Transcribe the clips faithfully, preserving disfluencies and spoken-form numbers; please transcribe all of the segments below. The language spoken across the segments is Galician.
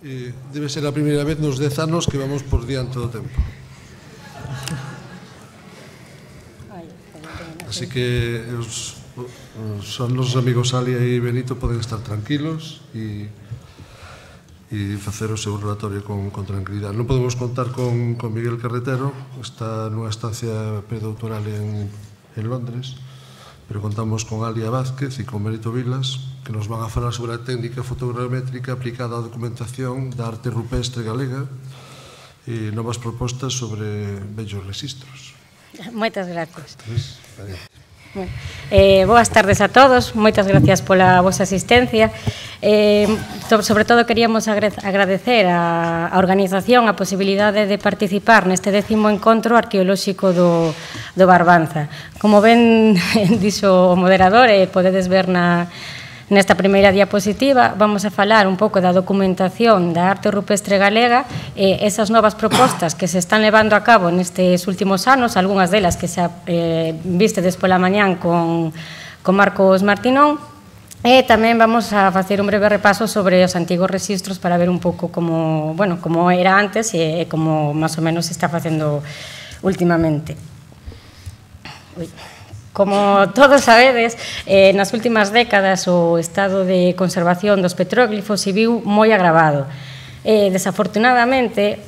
Eh, debe ser a primeira vez nos dez anos que vamos por diante do tempo. Así que os, os nosos amigos Alia e Benito poden estar tranquilos e, e facer o seu relatorio con, con tranquilidade. Non podemos contar con, con Miguel Carretero, está nunha estancia predoctoral en, en Londres, pero contamos con Alia Vázquez e con Benito Vilas, que nos van a falar sobre a técnica fotogramétrica aplicada á documentación da arte rupestre galega e novas propostas sobre bellos registros. Moitas gracias. Eh, boas tardes a todos, moitas gracias pola vosa asistencia. Eh, sobre todo queríamos agradecer a, a organización a posibilidade de participar neste décimo encontro arqueolóxico do, do Barbanza. Como ben dixo o moderador, e podedes ver na Nesta primeira diapositiva vamos a falar un pouco da documentación da arte rupestre galega e esas novas propostas que se están levando a cabo nestes últimos anos, algunhas delas que xa eh, vistedes pola mañán con, con Marcos Martinón, e tamén vamos a facer un breve repaso sobre os antigos registros para ver un pouco como, bueno, como era antes e como máis ou menos se está facendo últimamente. Ui. Como todos sabedes, eh, nas últimas décadas o estado de conservación dos petróglifos se viu moi agravado. Eh, desafortunadamente,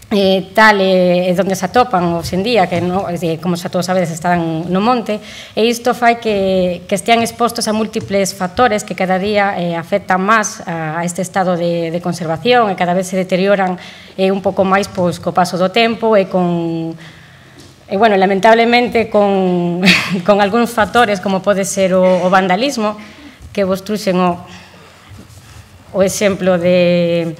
eh, tal é eh, onde se atopan hoxe en día, que no, eh, como xa todos sabedes están no monte, e isto fai que, que estean expostos a múltiples factores que cada día eh, afectan máis a, a este estado de, de conservación e cada vez se deterioran eh, un pouco máis pois, co paso do tempo e con... E, bueno, lamentablemente, con, con algúns factores, como pode ser o, o vandalismo, que vos truxen o, o exemplo de,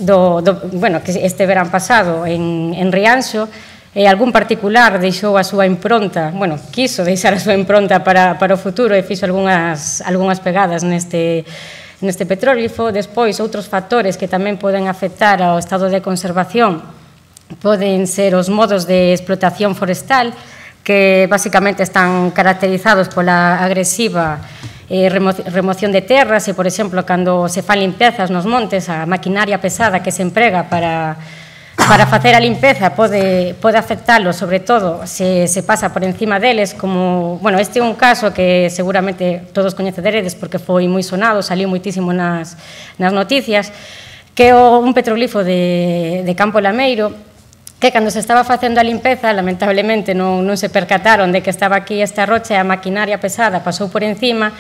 do, do, bueno, que este verán pasado en, en Rianxo, e algún particular deixou a súa impronta, bueno, quiso deixar a súa impronta para, para o futuro e fixo algunhas, algunhas pegadas neste, neste petróglifo. Despois, outros factores que tamén poden afectar ao estado de conservación poden ser os modos de explotación forestal, que basicamente están caracterizados pola agresiva eh, remoción de terras e, por exemplo, cando se fan limpezas nos montes, a maquinaria pesada que se emprega para, para facer a limpeza pode, pode afectalo, sobre todo se, se pasa por encima deles, como, bueno, este é un caso que seguramente todos coñeceredes porque foi moi sonado, saliu moitísimo nas, nas noticias, que é un petroglifo de, de Campo Lameiro, que cando se estaba facendo a limpeza, lamentablemente non, non se percataron de que estaba aquí esta rocha e a maquinaria pesada pasou por encima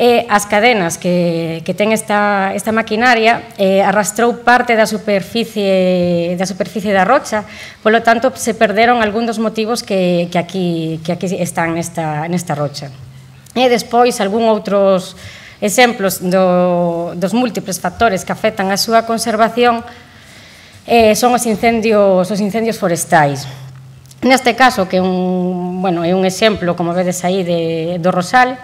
e as cadenas que, que ten esta, esta maquinaria eh, arrastrou parte da superficie, da superficie da rocha, polo tanto se perderon algún dos motivos que, que, aquí, que aquí están nesta, nesta rocha. E despois algún outros exemplos do, dos múltiples factores que afectan a súa conservación Eh, son os incendios, os incendios forestais. Neste caso, que é un, bueno, é un exemplo, como vedes aí, de, do Rosal,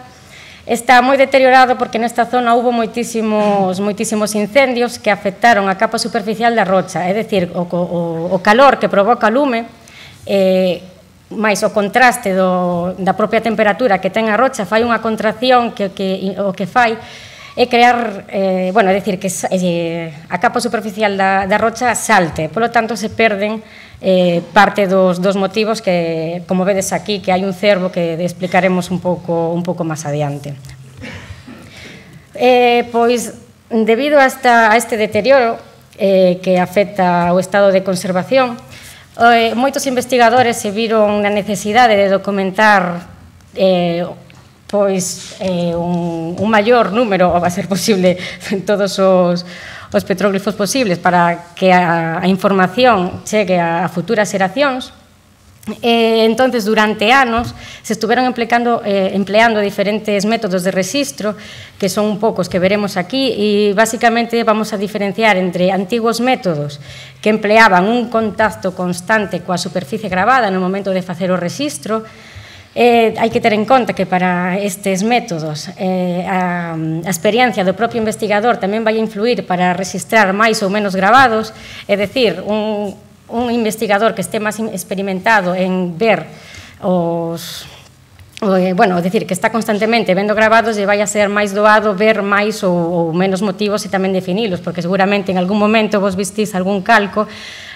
está moi deteriorado porque nesta zona houve moitísimos, moitísimos incendios que afectaron a capa superficial da rocha, é dicir, o, o, o calor que provoca o lume, eh, máis o contraste do, da propia temperatura que ten a rocha, fai unha contracción que, que, o que fai é crear, eh, bueno, é dicir, que eh, a capa superficial da, da rocha salte, polo tanto se perden eh, parte dos, dos motivos que, como vedes aquí, que hai un cervo que explicaremos un pouco, un pouco máis adiante. Eh, pois, debido a, esta, a este deterioro eh, que afecta o estado de conservación, eh, moitos investigadores se viron na necesidade de documentar eh, pois eh, un, un maior número, ou va a ser posible, todos os, os petróglifos posibles para que a, a información chegue a, a futuras xeracións. E, entonces, durante anos, se estuveron empleando, eh, empleando diferentes métodos de registro, que son un poucos que veremos aquí, e, basicamente, vamos a diferenciar entre antigos métodos que empleaban un contacto constante coa superficie gravada no momento de facer o registro. Eh, hai que ter en conta que para estes métodos eh, a, a experiencia do propio investigador tamén vai influir para registrar máis ou menos gravados, é dicir, un, un investigador que este máis experimentado en ver os, bueno, é dicir, que está constantemente vendo gravados e vai a ser máis doado ver máis ou, ou menos motivos e tamén definilos, porque seguramente en algún momento vos vistís algún calco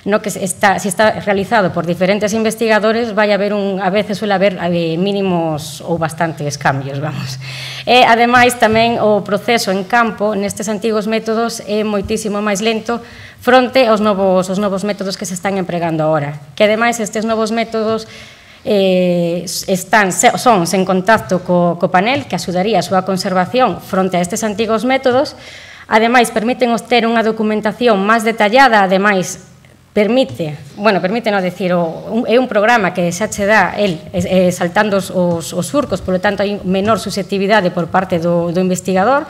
no que está, se está realizado por diferentes investigadores, vai haber un, a veces suele haber eh, mínimos ou bastantes cambios, vamos. E, ademais, tamén o proceso en campo nestes antigos métodos é moitísimo máis lento fronte aos novos, os novos métodos que se están empregando agora. Que, ademais, estes novos métodos Eh, están, son sen contacto co, co panel, que axudaría a súa conservación fronte a estes antigos métodos. Ademais, permiten obter unha documentación máis detallada, ademais, permite, bueno, permite non decir, o, é un programa que xa che dá el eh, saltando os, os, os surcos, polo tanto, hai menor susceptibilidade por parte do, do investigador,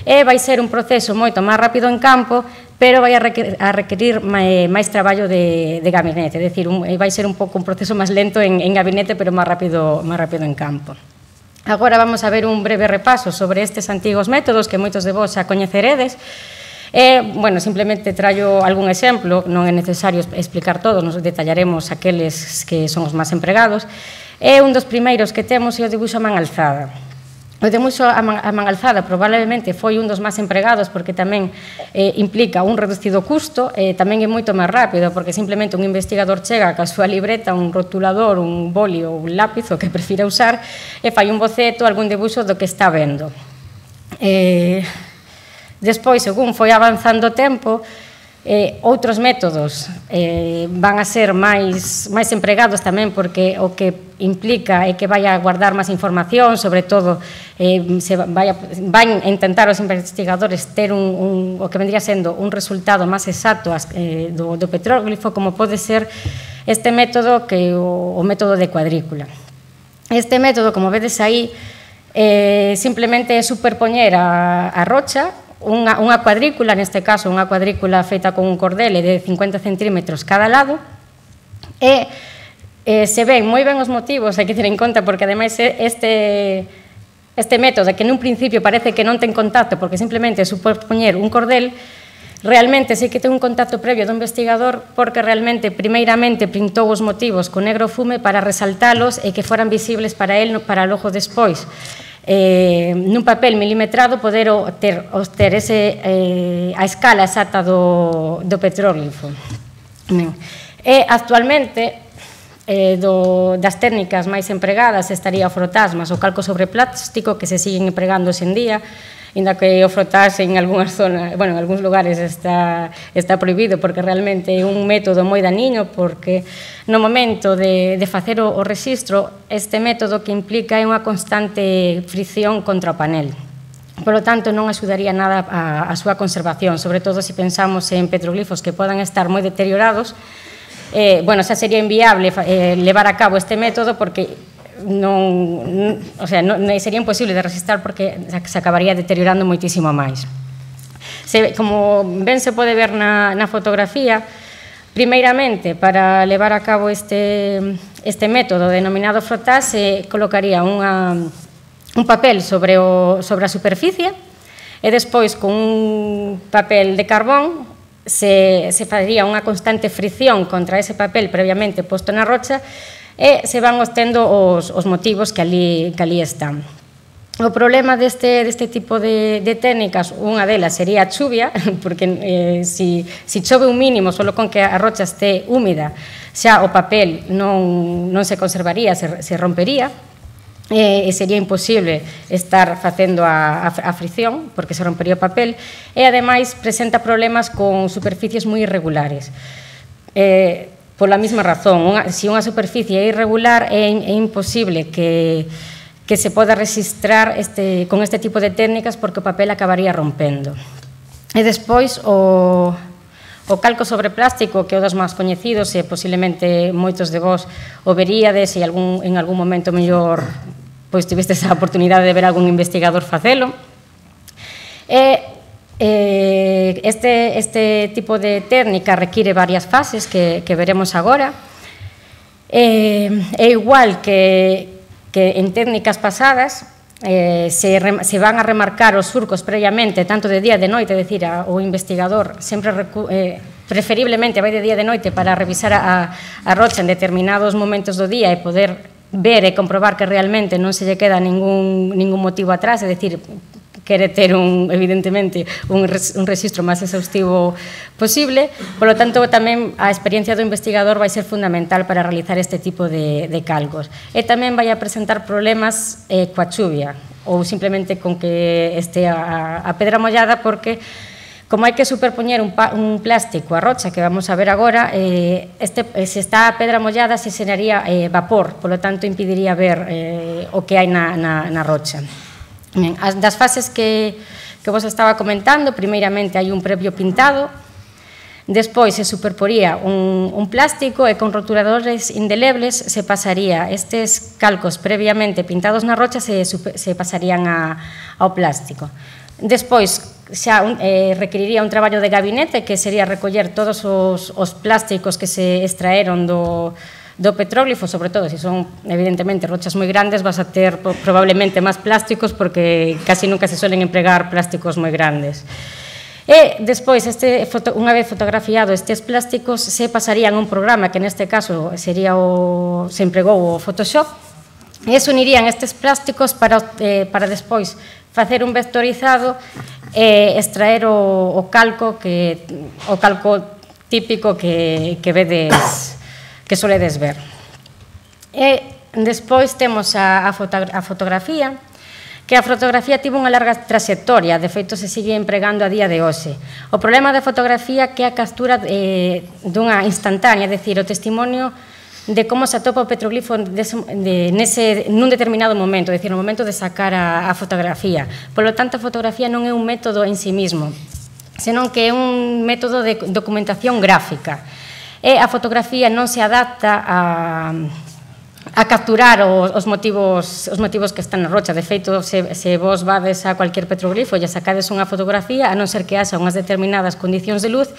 e vai ser un proceso moito máis rápido en campo, pero vai a requerir, a requerir máis traballo de, de gabinete, é dicir, un, vai ser un pouco un proceso máis lento en, en gabinete, pero máis rápido, máis rápido en campo. Agora vamos a ver un breve repaso sobre estes antigos métodos que moitos de vos xa coñeceredes. E, bueno, simplemente traio algún exemplo, non é necesario explicar todo, nos detallaremos aqueles que son os máis empregados. E un dos primeiros que temos é o dibuixo a man alzada. O debuxo a man, a man alzada probablemente foi un dos máis empregados porque tamén eh, implica un reducido custo e tamén é moito máis rápido porque simplemente un investigador chega ca súa libreta, un rotulador, un boli ou un lápiz, o que prefira usar, e fai un boceto, algún debuxo do que está vendo. Eh, despois, según foi avanzando o tempo, Eh, outros métodos eh, van a ser máis, máis empregados tamén porque o que implica é que vai a guardar máis información, sobre todo eh, se vai a, van a intentar os investigadores ter un, un, o que vendría sendo un resultado máis exacto eh, do, do petróglifo, como pode ser este método que o, o método de cuadrícula. Este método, como vedes aí, eh, simplemente é superpoñer a, a rocha, Unha, unha cuadrícula, neste caso unha cuadrícula feita con un cordel de cincuenta centímetros cada lado, e eh, se ven moi ben os motivos, hai que ter en conta, porque ademais este, este método que nun principio parece que non ten contacto porque simplemente é superpoñer un cordel, realmente sí que ten un contacto previo do investigador porque realmente primeiramente pintou os motivos con negro fume para resaltalos e que foran visibles para él para logo despois. Eh, nun papel milimetrado poder ter, ter ese, eh, a escala exacta do, do petróglifo. E actualmente eh, do, das técnicas máis empregadas estaría o frotasmas, o calco sobre plástico que se siguen empregando hoxe en día, inda que o frotas en algunhas zonas, bueno, en algúns lugares está, está prohibido porque realmente é un método moi daniño porque no momento de, de facer o, o registro este método que implica é unha constante fricción contra o panel. Por lo tanto, non axudaría nada a, a súa conservación, sobre todo se pensamos en petroglifos que podan estar moi deteriorados. Eh, bueno, xa sería inviable eh, levar a cabo este método porque non, o sea, non, sería imposible de registrar porque se acabaría deteriorando moitísimo máis. Se, como ben se pode ver na, na fotografía, primeiramente, para levar a cabo este, este método denominado frotar, se colocaría unha, un papel sobre, o, sobre a superficie e despois con un papel de carbón se, se faría unha constante fricción contra ese papel previamente posto na rocha e se van obtendo os, os motivos que ali, que ali están. O problema deste, deste tipo de, de técnicas, unha delas sería a chuvia, porque eh, si, si chove un mínimo, solo con que a rocha este húmida, xa o papel non, non se conservaría, se, se rompería, e sería imposible estar facendo a, a, a fricción, porque se rompería o papel, e ademais presenta problemas con superficies moi irregulares. Eh, Pola mesma razón, unha, se unha superficie é irregular é, é imposible que, que se poda registrar este, con este tipo de técnicas porque o papel acabaría rompendo. E despois o, o calco sobre plástico, que é o dos máis coñecidos e posiblemente moitos de vos o veríades e algún, en algún momento mellor pois tivestes a oportunidade de ver algún investigador facelo. E Este, este tipo de técnica require varias fases que, que veremos agora. É igual que, que en técnicas pasadas, eh, se, se van a remarcar os surcos previamente, tanto de día e de noite, é dicir, a, o investigador sempre eh, preferiblemente vai de día e de noite para revisar a, a rocha en determinados momentos do día e poder ver e comprobar que realmente non se lle queda ningún, ningún motivo atrás, é dicir, quere ter, un, evidentemente, un, res, un registro máis exhaustivo posible. Por lo tanto, tamén a experiencia do investigador vai ser fundamental para realizar este tipo de, de cálculos. E tamén vai a presentar problemas eh, coa chuvia, ou simplemente con que este a, a pedra mollada, porque como hai que superpoñer un, pa, un plástico a rocha, que vamos a ver agora, eh, este, se está a pedra mollada se xeraría eh, vapor, por lo tanto impediría ver eh, o que hai na, na, na rocha. Ben, as, das fases que, que vos estaba comentando, primeiramente hai un previo pintado, despois se superporía un, un plástico e con roturadores indelebles se pasaría estes calcos previamente pintados na rocha se, se pasarían a, ao plástico. Despois xa eh, requeriría un traballo de gabinete, que sería recoller todos os, os plásticos que se extraeron do, do petróglifo, sobre todo se son evidentemente rochas moi grandes, vas a ter probablemente máis plásticos, porque casi nunca se suelen empregar plásticos moi grandes. E despois, este, unha vez fotografiado estes plásticos, se pasarían a un programa que neste caso sería o, se empregou o Photoshop, e se unirían estes plásticos para, eh, para despois facer un vectorizado e extraer o, o calco que o calco típico que, que vedes, que soledes ver. E despois temos a, a, foto, a fotografía, que a fotografía tivo unha larga trayectoria, de feito se sigue empregando a día de hoxe. O problema da fotografía que é a captura eh, dunha instantánea, é dicir, o testimonio de como se atopa o petroglifo de, de, nese, nun determinado momento, é dicir, no momento de sacar a, a fotografía. Por lo tanto, a fotografía non é un método en sí mismo, senón que é un método de documentación gráfica. E a fotografía non se adapta a, a capturar os, os, motivos, os motivos que están na rocha. De feito, se, se vos vades a cualquier petroglifo e sacades unha fotografía, a non ser que haxa unhas determinadas condicións de luz,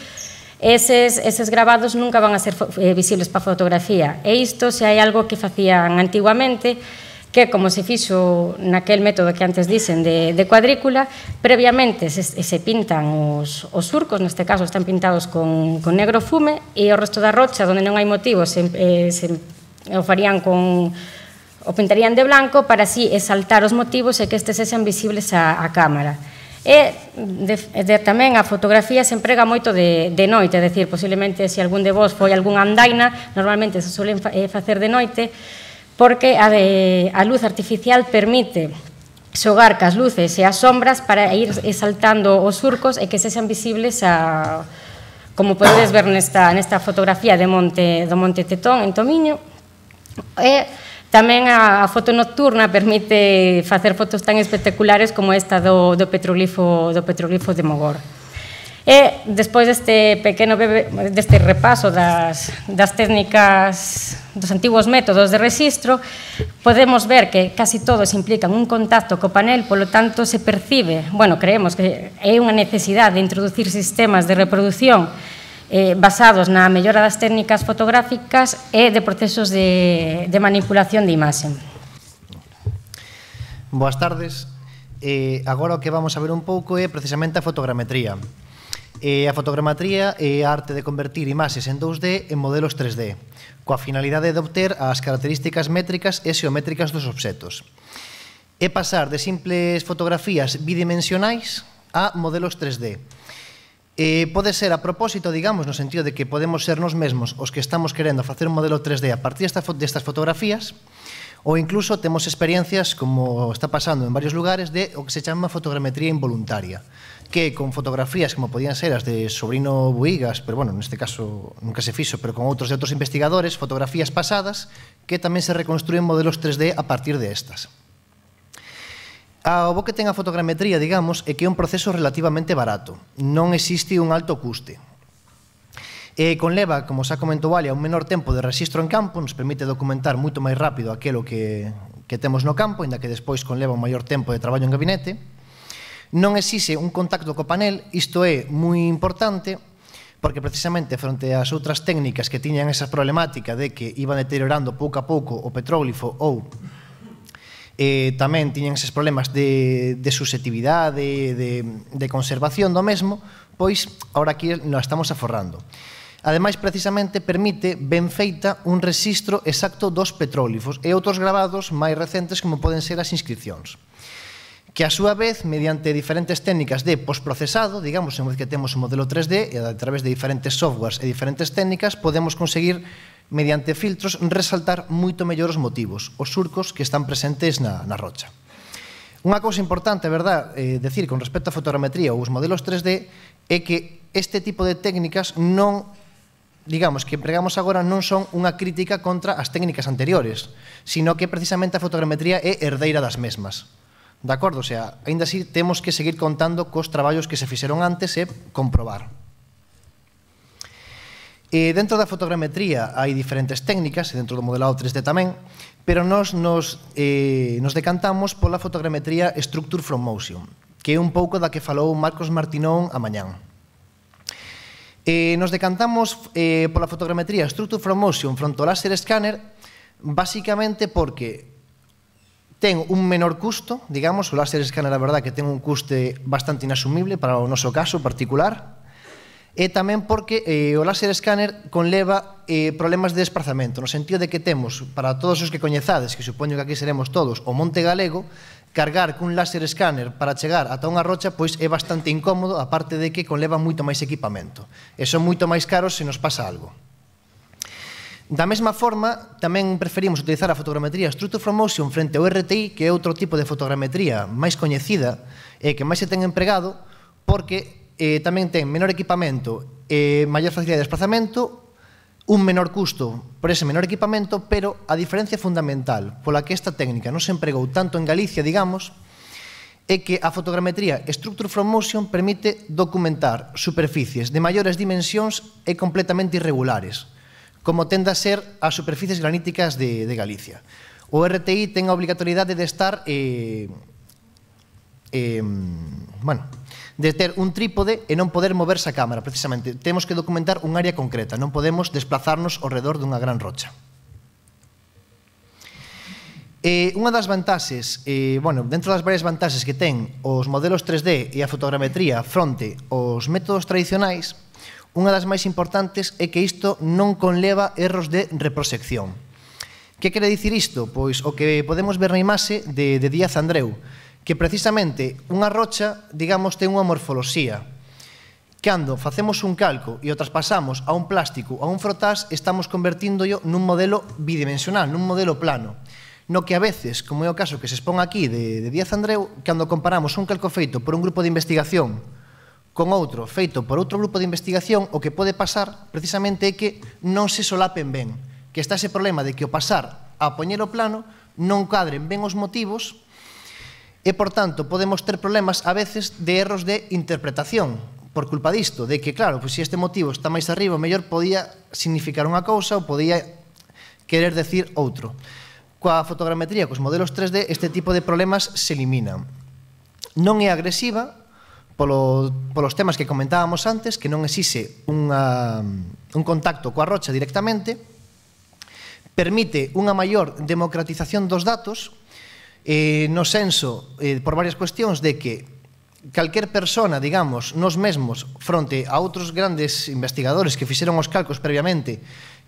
Eses, eses grabados nunca van a ser eh, visibles para a fotografía. E isto, se hai algo que facían antiguamente, que como se fixo naquel método que antes dicen de, de cuadrícula, previamente se, se pintan os, os surcos, neste caso están pintados con, con negro fume, e o resto da rocha, onde non hai motivos, se, eh, se o farían con, o pintarían de blanco para así exaltar os motivos e que estes sexan visibles á, á cámara. E de, de, tamén a fotografía se emprega moito de, de noite, é dicir, posiblemente se algún de vos foi algún andaina, normalmente se suelen fa, eh, facer de noite, porque a, de, a luz artificial permite xogar cas luces e as sombras para ir exaltando os surcos e que se sean visibles a, como podedes ver nesta, nesta fotografía de monte, do Monte Tetón en Tomiño. E tamén a foto nocturna permite facer fotos tan espectaculares como esta do, do, petroglifo, do petroglifo de Mogor. E despois deste pequeno bebe, deste repaso das, das técnicas dos antigos métodos de rexistro, podemos ver que casi todos implican un contacto co panel, polo tanto se percibe, bueno, creemos que é unha necesidade de introducir sistemas de reproducción Eh, basados na mellora das técnicas fotográficas e de procesos de, de manipulación de imaxe. Boas tardes. Eh, agora o que vamos a ver un pouco é precisamente a fotogrametría. Eh, a fotogrametría é a arte de convertir imaxes en dous D en modelos tres D, coa finalidade de obter as características métricas e xeométricas dos obxetos. É pasar de simples fotografías bidimensionais a modelos tres D. Eh, pode ser a propósito, digamos, no sentido de que podemos ser nos mesmos os que estamos querendo facer un modelo tres D a partir destas fotografías, ou incluso temos experiencias, como está pasando en varios lugares, de o que se chama fotogrametría involuntaria, que con fotografías como podían ser as de Sobrino Buigas, pero bueno, neste caso nunca se fixo, pero con outros de outros investigadores, fotografías pasadas que tamén se reconstruen modelos tres D a partir de estas. O bo que ten a fotogrametría, digamos, é que é un proceso relativamente barato. Non existe un alto custe. E conleva, como xa comentou Alia, un menor tempo de rexistro en campo, nos permite documentar moito máis rápido aquilo que, que temos no campo, ainda que despois conleva un maior tempo de traballo en gabinete. Non exixe un contacto co panel, isto é moi importante, porque precisamente fronte ás outras técnicas que tiñan esa problemática de que iban deteriorando pouco a pouco o petróglifo ou Eh, tamén tiñan eses problemas de, de susceptibilidade, de, de conservación do mesmo, pois, ahora aquí nos estamos aforrando. Ademais, precisamente, permite ben feita un rexistro exacto dos petróglifos e outros gravados máis recentes como poden ser as inscripcións, que a súa vez, mediante diferentes técnicas de postprocesado, digamos, en vez que temos un modelo tres D, e a través de diferentes softwares e diferentes técnicas, podemos conseguir, mediante filtros, resaltar moito mellor os motivos, os surcos que están presentes na, na rocha. Unha cousa importante, verdad, eh, decir con respecto á fotogrametría ou os modelos tres D é que este tipo de técnicas non, digamos, que empregamos agora non son unha crítica contra as técnicas anteriores, sino que precisamente a fotogrametría é herdeira das mesmas. De acordo? O sea, ainda así temos que seguir contando cos traballos que se fixeron antes e comprobar. E dentro da fotogrametría hai diferentes técnicas, e dentro do modelado tres D tamén, pero nos, nos, eh, nos decantamos pola fotogrametría Structure from Motion, que é un pouco da que falou Marcos Martinón a mañán. Eh, nos decantamos eh, pola fotogrametría Structure from Motion fronte ao láser scanner, basicamente porque ten un menor custo, digamos, o láser scanner a verdad que ten un custe bastante inasumible para o noso caso particular, e tamén porque eh, o láser scanner conleva eh, problemas de desplazamento, no sentido de que temos, para todos os que coñezades, que supoño que aquí seremos todos, o Monte Galego, cargar cun láser scanner para chegar ata unha rocha pois é bastante incómodo, aparte de que conleva moito máis equipamento, e son moito máis caros se nos pasa algo. Da mesma forma, tamén preferimos utilizar a fotogrametría Structure from Motion frente ao R T I, que é outro tipo de fotogrametría máis coñecida e que máis se ten empregado, porque eh, tamén ten menor equipamento e maior facilidade de desplazamento, un menor custo por ese menor equipamento, pero a diferencia fundamental pola que esta técnica non se empregou tanto en Galicia, digamos, é que a fotogrametría Structure from Motion permite documentar superficies de maiores dimensións e completamente irregulares, como tende a ser as superficies graníticas de, de Galicia. O R T I ten a obrigatoriedade de estar, eh, eh, bueno, de ter un trípode e non poder moverse a cámara, precisamente. Temos que documentar un área concreta, non podemos desplazarnos ao redor dunha gran rocha. Eh, unha das vantaxes, eh, bueno, dentro das varias vantaxes que ten os modelos tres D e a fotogrametría fronte aos métodos tradicionais, unha das máis importantes é que isto non conleva erros de reproxección. Que quere dicir isto? Pois o que podemos ver na imaxe de, de Díaz Andreu, que precisamente unha rocha, digamos, ten unha morfoloxía. Cando facemos un calco e o traspasamos a un plástico, a un frotás, estamos convertíndolo nun modelo bidimensional, nun modelo plano. No que a veces, como é o caso que se expón aquí de, de Díaz Andreu, cando comparamos un calco feito por un grupo de investigación con outro feito por outro grupo de investigación, o que pode pasar precisamente é que non se solapen ben, que está ese problema de que ao pasar a poñer o plano non cadren ben os motivos e, por tanto, podemos ter problemas a veces de erros de interpretación por culpa disto, de que, claro, pois se este motivo está máis arriba, o mellor podía significar unha cousa ou podía querer decir outro. Coa fotogrametría, cos modelos tres D, este tipo de problemas se eliminan. Non é agresiva, Polo, polos temas que comentábamos antes, que non exixe unha, un contacto coa rocha directamente, permite unha maior democratización dos datos, eh, no senso, eh, por varias cuestións, de que calquer persona, digamos, nos mesmos, fronte a outros grandes investigadores que fixeron os calcos previamente,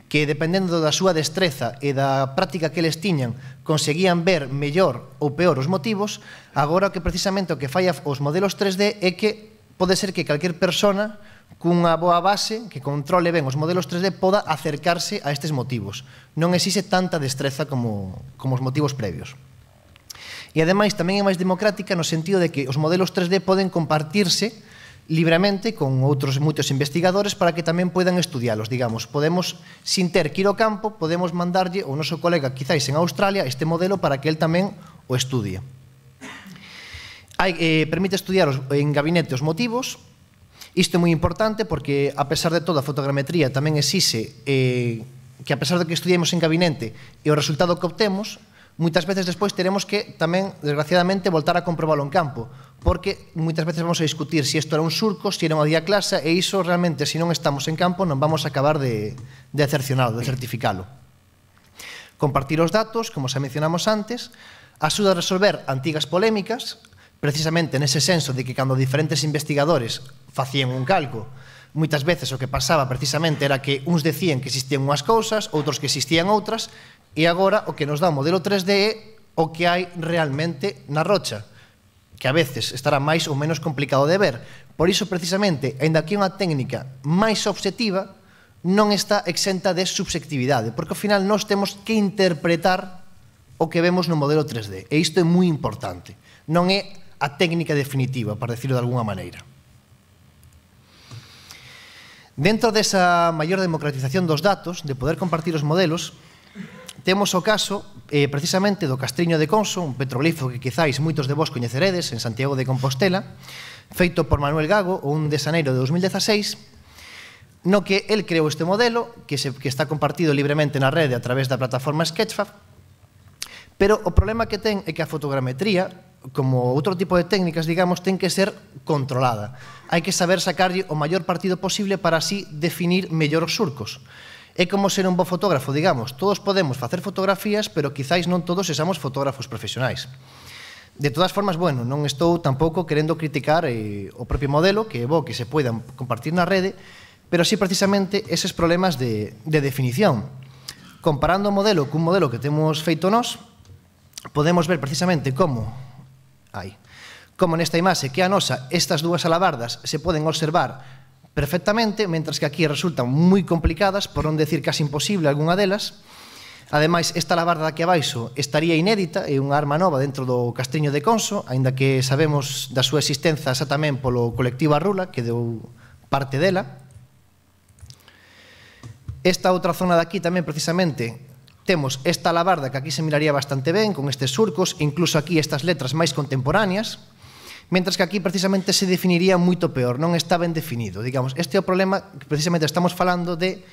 que dependendo da súa destreza e da práctica que eles tiñan conseguían ver mellor ou peor os motivos, agora que precisamente o que falla os modelos tres D é que pode ser que calquer persona cunha boa base que controle ben os modelos tres D poda acercarse a estes motivos. Non exixe tanta destreza como, como os motivos previos. E ademais tamén é máis democrática no sentido de que os modelos tres D poden compartirse libremente con outros moitos investigadores para que tamén poidan estudialos, digamos. Podemos, sin ter que ir ao campo, podemos mandarlle ao noso colega, quizáis en Australia, este modelo para que el tamén o estudie. Hai, eh, permite estudiar os, en gabinete os motivos. Isto é moi importante porque, a pesar de todo, a fotogrametría tamén exixe eh, que, a pesar de que estudiemos en gabinete e o resultado que obtemos, moitas veces despois teremos que tamén, desgraciadamente, voltar a comprobalo en campo, porque moitas veces vamos a discutir se isto era un surco, se era unha diaclasa, e iso realmente, se non estamos en campo, non vamos a acabar de, de cercionalo, de certificalo. Compartir os datos, como xa mencionamos antes, axuda a resolver antigas polémicas, precisamente nese senso de que cando diferentes investigadores facían un calco, moitas veces o que pasaba precisamente era que uns decían que existían unhas cousas, outros que existían outras, e agora o que nos dá o modelo tres D é o que hai realmente na rocha, que a veces estará máis ou menos complicado de ver. Por iso, precisamente, aínda que é unha técnica máis obxectiva, non está exenta de subxectividade, porque ao final nós temos que interpretar o que vemos no modelo tres D, e isto é moi importante. Non é a técnica definitiva, para decirlo de alguna maneira. Dentro desa maior democratización dos datos, de poder compartir os modelos, temos o caso, eh, precisamente, do Castriño de Conso, un petroglifo que quizáis moitos de vos coñeceredes en Santiago de Compostela, feito por Manuel Gago, o un de xaneiro de dos mil dezaseis, no que el creou este modelo, que, se, que está compartido libremente na rede a través da plataforma Sketchfab, pero o problema que ten é que a fotogrametría, como outro tipo de técnicas, digamos, ten que ser controlada. Hai que saber sacarlle o maior partido posible para así definir mellor os surcos. É como ser un bo fotógrafo, digamos. Todos podemos facer fotografías, pero quizáis non todos sexamos fotógrafos profesionais. De todas formas, bueno, non estou tampouco querendo criticar eh, o propio modelo, que é bo que se poidan compartir na rede, pero sí precisamente eses problemas de, de definición. Comparando o modelo cun modelo que temos feito nós, podemos ver precisamente como hai, como nesta imaxe que a nosa, estas dúas alabardas se poden observar perfectamente, mentras que aquí resultan moi complicadas, por non decir casi imposible algunha delas. Ademais, esta alabarda aquí abaixo estaría inédita, é unha arma nova dentro do Castriño de Conso, aínda que sabemos da súa existencia xa tamén polo colectivo Arrula, que deu parte dela. Esta outra zona de aquí tamén, precisamente, temos esta alabarda que aquí se miraría bastante ben, con estes surcos, incluso aquí estas letras máis contemporáneas, mentras que aquí precisamente se definiría moito peor, non está ben definido. Digamos, este é o problema que precisamente estamos falando de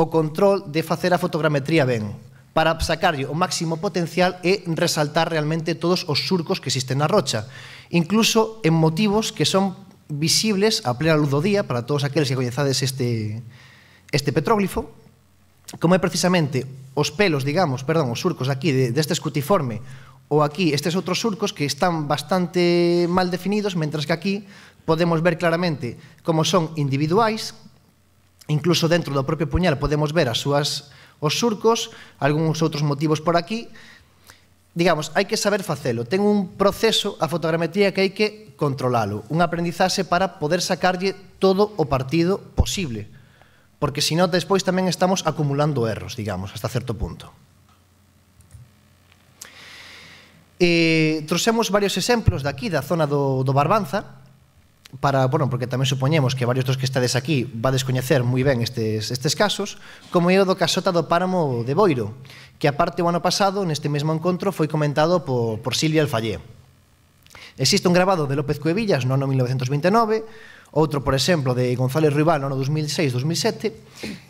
o control de facer a fotogrametría ben, para sacarlle o máximo potencial e resaltar realmente todos os surcos que existen na rocha, incluso en motivos que son visibles a plena luz do día para todos aqueles que coñezades este, este petróglifo, como é precisamente os pelos, digamos, perdón, os surcos aquí deste escutiforme, ou aquí estes outros surcos que están bastante mal definidos, mentras que aquí podemos ver claramente como son individuais, incluso dentro do propio puñal podemos ver as súas, os surcos, algúns outros motivos por aquí. Digamos, hai que saber facelo, ten un proceso a fotogrametría que hai que controlalo, un aprendizaxe para poder sacarlle todo o partido posible, porque senón despois tamén estamos acumulando erros, digamos, hasta certo punto. Eh, trouxemos varios exemplos daqui, da zona do, do Barbanza, para, bueno, porque tamén supoñemos que varios dos que estades aquí vades coñecer moi ben estes, estes casos, como é o do Casota do Páramo de Boiro, que aparte o ano pasado, neste mesmo encontro, foi comentado por, por Silvia Alfallé. Existe un grabado de López Cuevillas no ano mil novecentos vinte e nove, outro, por exemplo, de González Ruibal no ano dos mil seis dos mil sete,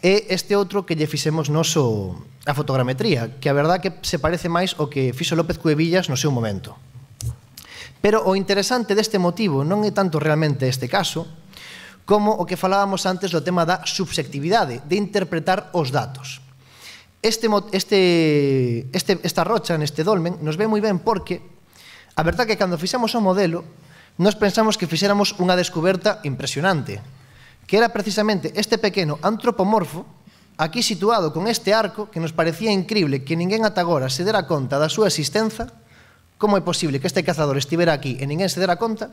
e este outro que lle fixemos noso a fotogrametría, que a verdad que se parece máis ao que fixo López Cuevillas no seu momento. Pero o interesante deste motivo non é tanto realmente este caso, como o que falábamos antes do tema da subxectividade, de interpretar os datos. Este, este, este, esta rocha neste dolmen nos ve moi ben porque a verdad que cando fixemos o modelo nos pensamos que fixéramos unha descoberta impresionante, que era precisamente este pequeno antropomorfo aquí situado con este arco que nos parecía increíble que ninguén ata agora se dera conta da súa existencia. Como é posible que este cazador estivera aquí e ninguén se dera conta?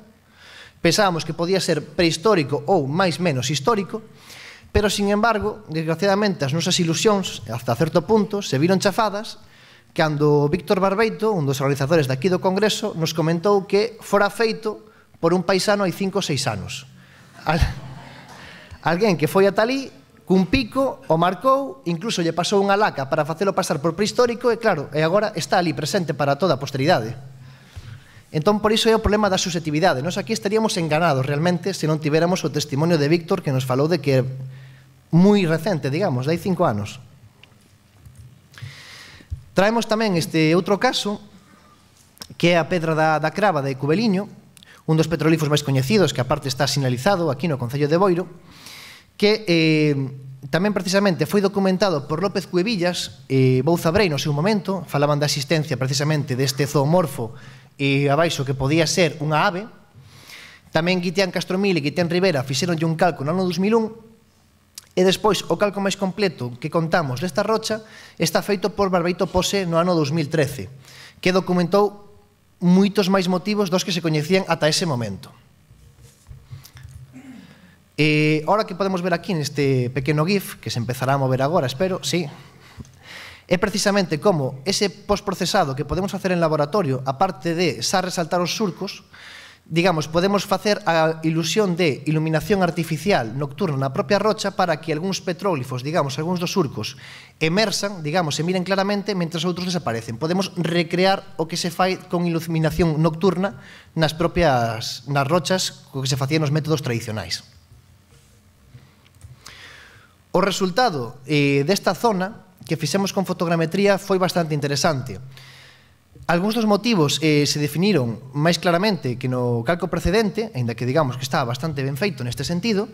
Pensábamos que podía ser prehistórico ou máis menos histórico, pero, sin embargo, desgraciadamente, as nosas ilusións, hasta certo punto, se viron chafadas cando Víctor Barbeito, un dos organizadores daqui do Congreso, nos comentou que fora feito por un paisano hai cinco ou seis anos. Al... Alguén que foi ata ali, cun pico, o marcou, incluso lle pasou unha laca para facelo pasar por prehistórico e, claro, e agora está ali presente para toda a posteridade. Entón, por iso é o problema da susceptividade. Nos aquí estaríamos enganados realmente se non tivéramos o testimonio de Víctor que nos falou de que é moi recente, digamos, de hai cinco anos. Traemos tamén este outro caso, que é a Pedra da, da Crava de Cubeliño, un dos petrolíferos máis coñecidos, que aparte está sinalizado aquí no Concello de Boiro, que eh, tamén precisamente foi documentado por López Cuevillas e Bouza Brei no seu momento. Falaban da existencia precisamente deste zoomorfo e abaixo que podía ser unha ave. Tamén Guitián Castromil e Guitián Rivera fixeronlle un calco no ano dos mil un, e despois o calco máis completo que contamos desta rocha está feito por Barbeito Pose no ano dos mil trece, que documentou moitos máis motivos dos que se coñecían ata ese momento. E ahora que podemos ver aquí neste pequeno GIF, que se empezará a mover agora, espero, sí, é precisamente como ese postprocesado que podemos facer en laboratorio, aparte de xa resaltar os surcos, digamos, podemos facer a ilusión de iluminación artificial nocturna na propia rocha para que algúns petróglifos, digamos, algúns dos surcos emersan, digamos, se miren claramente, mentre outros desaparecen. Podemos recrear o que se fai con iluminación nocturna nas propias, nas rochas, co que se facían nos métodos tradicionais. O resultado eh, desta zona que fixemos con fotogrametría foi bastante interesante. Algúns dos motivos eh, se definiron máis claramente que no calco precedente, aínda que digamos que está bastante ben feito neste sentido.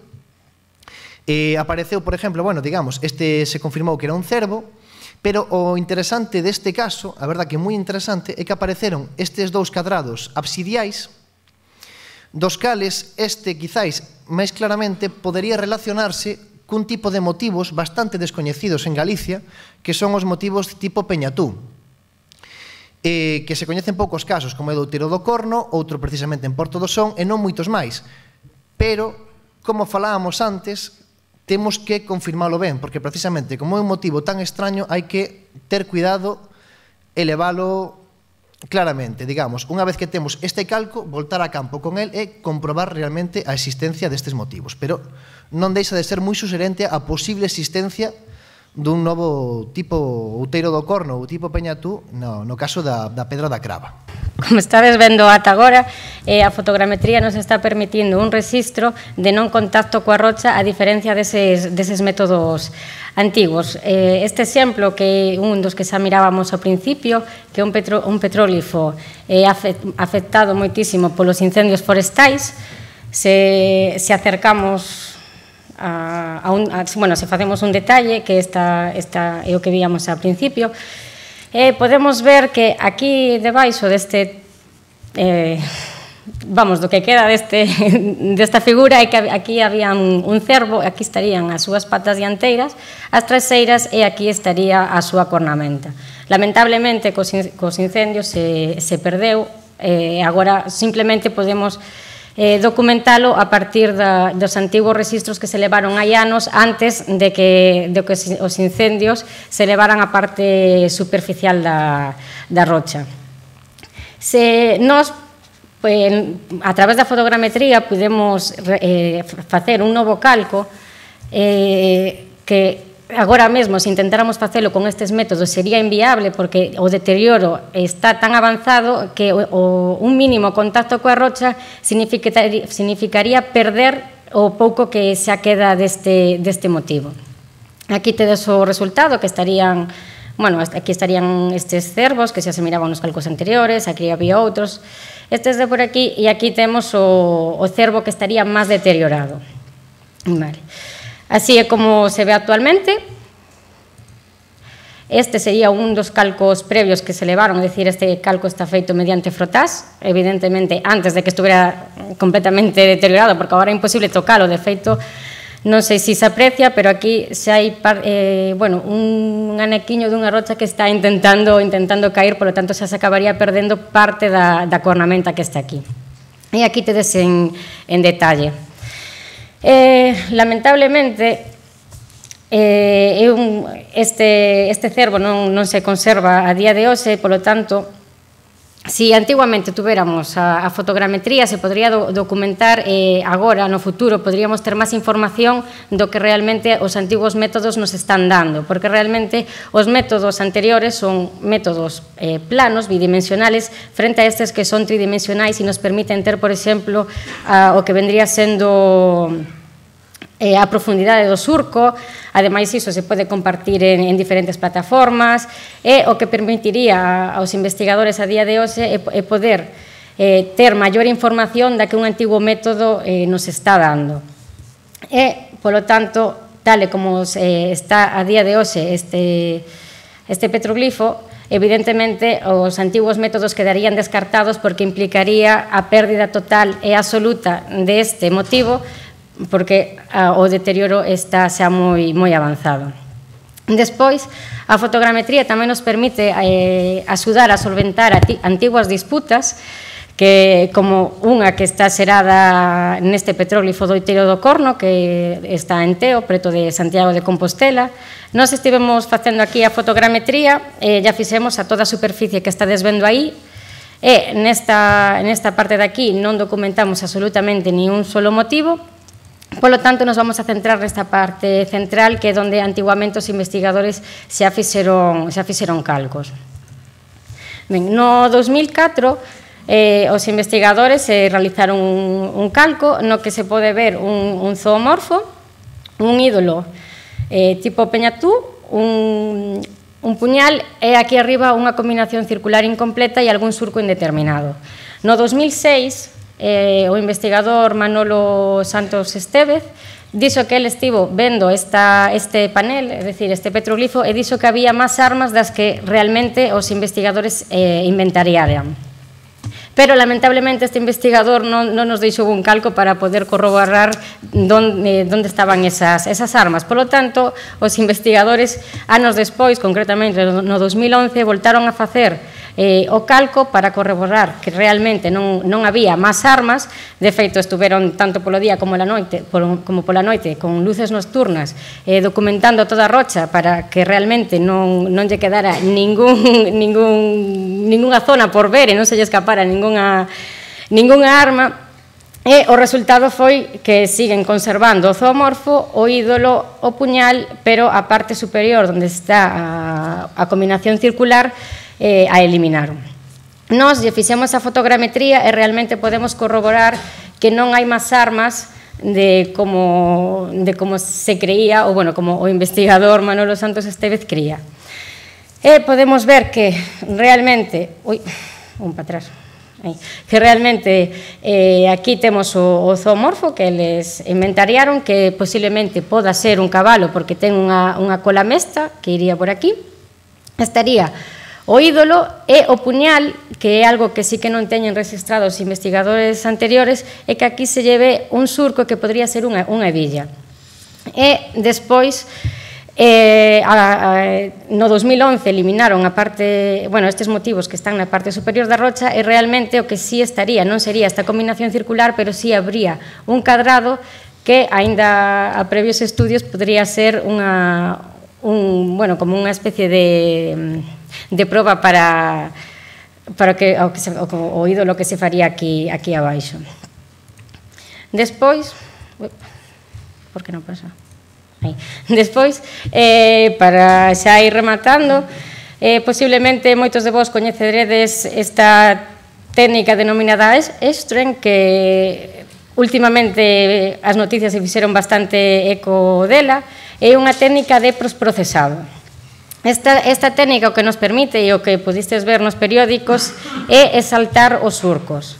Eh, apareceu, por exemplo, bueno, digamos, este se confirmou que era un cervo, pero o interesante deste caso, a verdad que moi interesante, é que apareceron estes dous cadrados absidiais, dos cales este, quizáis, máis claramente, podería relacionarse cun tipo de motivos bastante descoñecidos en Galicia, que son os motivos tipo Peñatú, eh, que se coñecen poucos casos, como é do Outeiro do Corno, outro precisamente en Porto do Son, e non moitos máis. Pero, como falábamos antes, temos que confirmalo ben, porque precisamente como é un motivo tan extraño, hai que ter cuidado e leválo claramente. Digamos, unha vez que temos este calco, voltar a campo con el e comprobar realmente a existencia destes motivos. Pero non deixa de ser moi sugerente a posible existencia dun novo tipo Outeiro do Corno ou tipo Peñatú no, no caso da, da Pedra da Crava. Como estades vendo ata agora, eh, a fotogrametría nos está permitindo un registro de non contacto coa rocha a diferencia deses, deses métodos antigos. Eh, este exemplo, que un dos que xa mirábamos ao principio, que é un, petro, un petróglifo eh, afectado moitísimo polos incendios forestais, se, se acercamos A, a un, a, bueno, se facemos un detalle, que esta, esta é o que víamos ao principio, eh, podemos ver que aquí debaixo deste, eh, vamos, do que queda deste, desta figura, é que aquí había un, un cervo, aquí estarían as súas patas dianteiras, as traseiras, e aquí estaría a súa cornamenta. Lamentablemente, cos, cos incendios se, se perdeu, eh, agora simplemente podemos Eh, documentalo a partir da, dos antigos registros que se levaron hai anos antes de que, de que os incendios se levaran a parte superficial da, da rocha. Se nós, pues, a través da fotogrametría, podemos eh, facer un novo calco eh, que agora mesmo, se intentáramos facelo con estes métodos, sería inviable, porque o deterioro está tan avanzado que o, o, un mínimo contacto coa rocha significaría, significaría perder o pouco que xa queda deste, deste motivo. Aquí tedes o resultado, que estarían, bueno, aquí estarían estes cervos, que xa se miraban nos calcos anteriores, aquí había outros, estes de por aquí, e aquí temos o, o cervo que estaría máis deteriorado. Vale. Así é como se ve actualmente. Este sería un dos calcos previos que se levaron, é dicir, este calco está feito mediante frotás, evidentemente antes de que estuviera completamente deteriorado, porque agora é imposible tocalo. De feito, non sei se se aprecia, pero aquí xa hai eh, bueno, un anequiño dunha rocha que está intentando intentando caer, polo tanto xa se acabaría perdendo parte da, da cornamenta que está aquí. E aquí tedes en, en detalle. Eh, lamentablemente, eh, un, este, este cervo non, non se conserva a día de hoxe, polo tanto, si antiguamente tuviéramos a, a fotogrametría, se podría do, documentar, eh, agora, no futuro, podríamos ter máis información do que realmente os antigos métodos nos están dando, porque realmente os métodos anteriores son métodos eh, planos, bidimensionales, frente a estes que son tridimensionais e nos permiten ter, por exemplo, a, o que vendría sendo eh, a profundidade do surco. Ademais, iso se pode compartir en, en diferentes plataformas, e o que permitiría aos investigadores a día de hoxe é, é poder eh, ter maior información da que un antigo método eh, nos está dando. E, polo tanto, tal e como eh, está a día de hoxe este, este petroglifo, evidentemente os antigos métodos quedarían descartados porque implicaría a pérdida total e absoluta deste motivo, porque o deterioro está xa moi, moi avanzado. Despois, a fotogrametría tamén nos permite eh, axudar a solventar antiguas disputas, que como unha que está xerada neste petróglifo do Outeiro do Corno, que está en Teo, preto de Santiago de Compostela. Nós estivemos facendo aquí a fotogrametría, e já fixemos a toda a superficie que estades vendo aí, e nesta, nesta parte de aquí non documentamos absolutamente ni un solo motivo. Polo tanto, nos vamos a centrar nesta parte central, que é onde antiguamente os investigadores xa fixeron, xa fixeron calcos. Ben, no dos mil catro, Eh, os investigadores eh, realizaron un, un calco no que se pode ver un, un zoomorfo, un ídolo eh, tipo peñatú, un, un puñal e aquí arriba unha combinación circular incompleta e algún surco indeterminado. No dos mil seis, eh, o investigador Manolo Santos Estévez dixo que ele estivo vendo esta, este panel, é dicir, este petroglifo, e dixo que había máis armas das que realmente os investigadores eh, inventariaran. Pero, lamentablemente, este investigador non, non nos deixou un calco para poder corroborar donde, donde estaban esas, esas armas. Por lo tanto, os investigadores, anos despois, concretamente no dos mil once, voltaron a facer eh, o calco para corroborar que realmente non, non había máis armas. De feito, estuveron tanto polo día como pola noite, por, como pola noite con luces nocturnas eh, documentando toda a rocha para que realmente non, non lle quedara ningún, ningún, ninguna zona por ver e non se lle escapara ninguna, ninguna arma. E o resultado foi que siguen conservando o zoomorfo, o ídolo, o puñal, pero a parte superior onde está a, a combinación circular eh, a eliminaron. Nós lle fixemos a fotogrametría e realmente podemos corroborar que non hai máis armas de como, de como se creía, ou bueno, como o investigador Manolo Santos Estévez creía. E podemos ver que realmente... Ui, un para atrás. Aí, que realmente eh, aquí temos o, o zoomorfo que eles inventariaron, que posiblemente poda ser un cabalo porque ten unha, unha cola mesta que iría por aquí. Estaría o ídolo e o puñal, que é algo que sí que non teñen registrado os investigadores anteriores, é que aquí se lleve un surco que podría ser unha, unha hebilla. E despois... Eh, a, a, no dos mil once eliminaron a parte, bueno, estes motivos que están na parte superior da rocha e realmente o que sí estaría non sería esta combinación circular, pero sí habría un cadrado que aínda a previos estudios podría ser unha, un, bueno, como unha especie de, de proba para, para que, o, que se, o, o ídolo que se faría aquí, aquí abaixo. Despois, por que non pasa? Aí. Despois, eh, para xa ir rematando, eh, posiblemente moitos de vos coñeceredes esta técnica denominada Estren, que últimamente as noticias se fixeron bastante eco dela, é unha técnica de prosprocesado. Esta, esta técnica o que nos permite, e o que pudistes ver nos periódicos, é exaltar os surcos.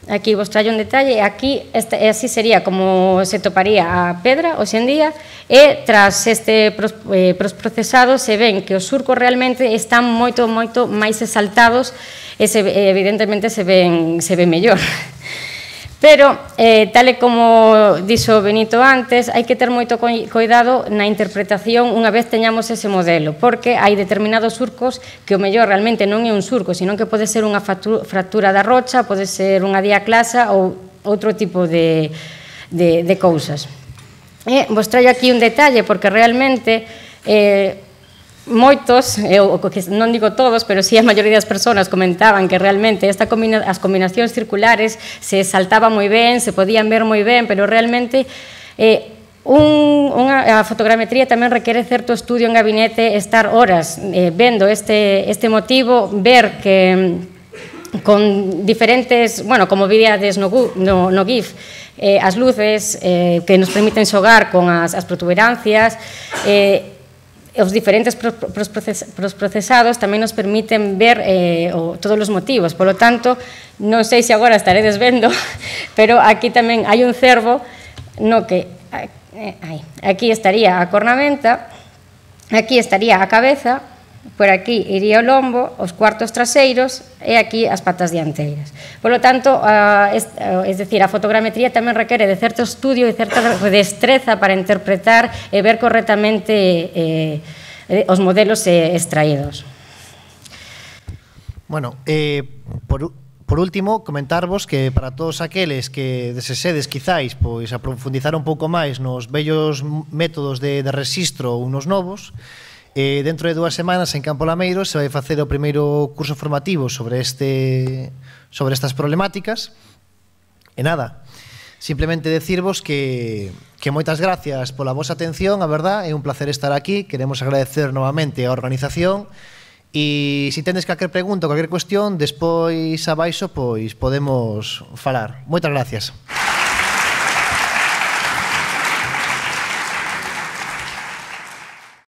Aquí vos traio un detalle, aquí este, así sería como se toparía a pedra hoxe en día, e tras este pros, eh, prosprocesado se ven que os surcos realmente están moito, moito máis exaltados e se, evidentemente se ven, se ven mellor. Pero, eh, tal e como dixo Benito antes, hai que ter moito cuidado na interpretación unha vez teñamos ese modelo, porque hai determinados surcos que o mellor realmente non é un surco, sino que pode ser unha fractura da rocha, pode ser unha diaclasa ou outro tipo de, de, de cousas. E vos traio aquí un detalle, porque realmente... Eh, moitos, eu non digo todos, pero sí a maioría das persoas comentaban que realmente esta combina, as combinacións circulares se saltaban moi ben, se podían ver moi ben, pero realmente eh, un, unha, a fotogrametría tamén requere certo estudio en gabinete, estar horas eh, vendo este, este motivo, ver que con diferentes, bueno, como vides no, no, no GIF, eh, as luces eh, que nos permiten xogar con as, as protuberancias, eh, os diferentes prosprocesados tamén nos permiten ver eh, o, todos os motivos. Por lo tanto, non sei se agora estaredes vendo, pero aquí tamén hai un cervo no que eh, aí, aquí estaría a cornamenta, aquí estaría a cabeza por aquí iría o lombo, os cuartos traseiros e aquí as patas dianteiras. Por lo tanto, es decir, a fotogrametría tamén requere de certo estudio e certa destreza para interpretar e ver correctamente os modelos extraídos. Bueno, eh, por, por último, comentarvos que para todos aqueles que desesedes quizáis pois, a profundizar un pouco máis nos vellos métodos de, de registro ou nos novos, eh, dentro de dúas semanas en Campo Lameiro se vai facer o primeiro curso formativo sobre, este, sobre estas problemáticas. E nada, simplemente decirvos que, que moitas gracias pola vosa atención, a verdad, é un placer estar aquí, queremos agradecer novamente a organización. E se tendes calquer pregunta ou calquer cuestión, despois abaixo pois podemos falar. Moitas gracias.